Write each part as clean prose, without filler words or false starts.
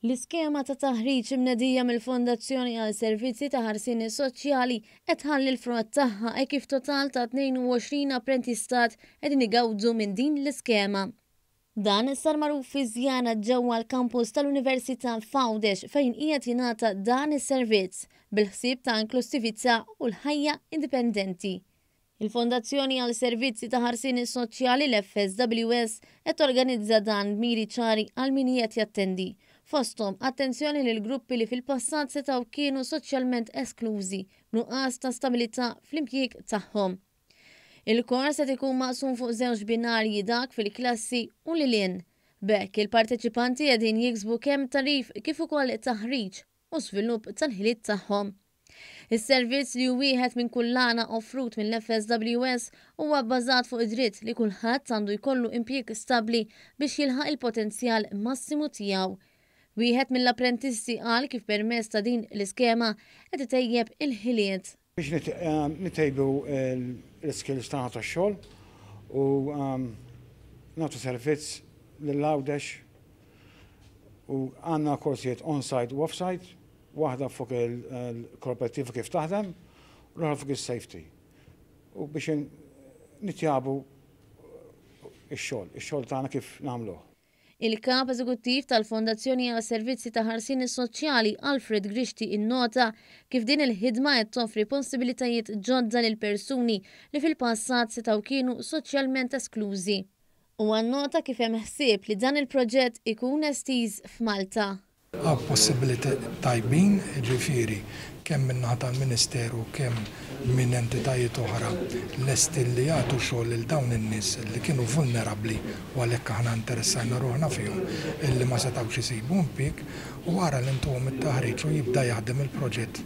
L-iskema ta' taħriġ imnedija mill-Fondazzjoni għal Servizzi ta' Ħarsien Soċjali qed tħalli l-frott tagħha hekk kif total ta' 22 apprentistat qegħdin igawdu minn din l-iskema. Dan sar magħruf fi żjara ġewwa l-kampus tal-Università f'Għawdex fejn qiegħed jingħata dan is-servizz bil-ħsieb ta' inklussività u l-ħajja indipendenti. Il-Fondazzjoni għal Servizzi ta' Ħarsien Soċjali, l-FSWS, qed torganizza dan b'miri ċari għal min qiegħed jattendi. Fosthom, attenzjoni lil gruppi li fil-passat setgħu kienu soċjalment esklużi b'nuqqas ta' stabilità fl-impjieg tagħhom. Il-kors qed ikun maqsum fuq żewġ binarji dak fil-klassi u lil hinn. B'hekk, il-parteċipanti qegħdin jiksbu kemm tagħrif kif ukoll taħriġ u żvilupp tal-ħiliet tagħhom. Is-servizz li hu wieħed minn kullana offrut mill-FSWS huwa bbażat fuq id-dritt li kulħadd għandu jkollu impjieg stabbli biex jilħaq il-potenzjal massimu tiegħu. Wieħed mill-apprentisti qal kif permezz ta' din l-iskema qed itejjeb il-ħiliet. Biex nitejbu l-iskills tagħna tax-xogħol u nagħtu servizz lil Għawdex u għandna korsijiet on-site u off-site, waħda fuq il-korporattiva kif taħdem u l-oħra fuq is-safety. U biex nitjabu x-xogħol, ix-xogħol tagħna kif nagħmluh. Il-Kap Eżekuttiv tal-Fondazzjoni għal Servizzi ta' Ħarsien Soċjali Alfred Grixti innota kif din il-ħidma qed toffri possibilitajiet ġodda lil persuni li fil-passat setgħu kienu soċjalment esklużi. Huwa nnota kif hemm ħsieb li dan il-proġett ikun estiż f'Malta. Hawn possibilità tajbin, jiġifieri kemm min-naħa tal-Ministeru kemm minn entitajiet oħra lesti li jagħtu xogħol lil dawn in-nies li kienu vulnerabbli u għalhekk aħna interessajna ruħna fihom illi ma setgħux isibu impjieg u wara li ntuhom it-taħriġ u jibda jaħdem il-proġett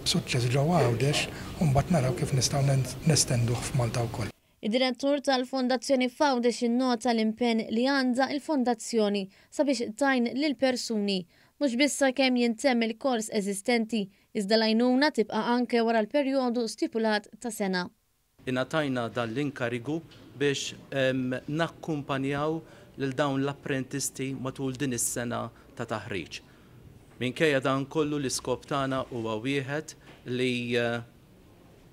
b'suċċess ġewwa Għawdex u mbagħad naraw kif nistgħu nestenduh f'Malta wkoll. Id-Direttur tal-Fondazzjoni f'Għawdex innota l-impenn li għandha l-Fondazzjoni sabiex tgħin lill-persuni, mhux biss sakemm jintemm il-kors eżistenti, iżda l-għajnuna tibqa' anke wara l-perjodu stipulat ta' sena. Ingħatajna dan l-inkarigu biex nakkumpanjaw lil dawn l-apprentisti matul din is-sena ta' taħriġ. Minkejja dan kollu l-iskop tagħna huwa wieħed li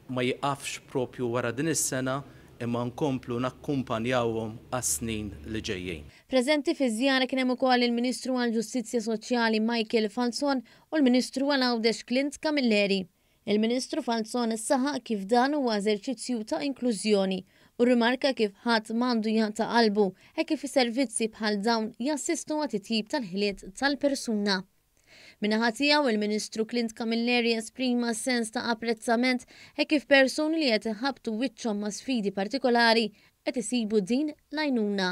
ma jiqafx propju wara din is-sena imma nkomplu nakkumpanjawhom għas-snin li ġejjin. Preżenti fiż-żjara kien hemm ukoll il-Ministru għall-Ġustizzja Soċjali Michael Falzon u l-Ministru għal Għawdex Clint Camilleri. Il-Ministru Falzon saħaq kif dan huwa eżerċizzju ta' inklużjoni u rrimarka kif ħadd m'għandu jaqta' qalbu hekk kif servizzi bħal dawn jassistu għat-titjib tal-ħiliet tal-persuna. Min-naħa tiegħu, il-Ministru Clint Camilleri esprima sens ta' apprezzament hekk kif persuni li qed iħabbtu wiċċhom ma' sfidi partikolari qed isibu din l-għajnuna.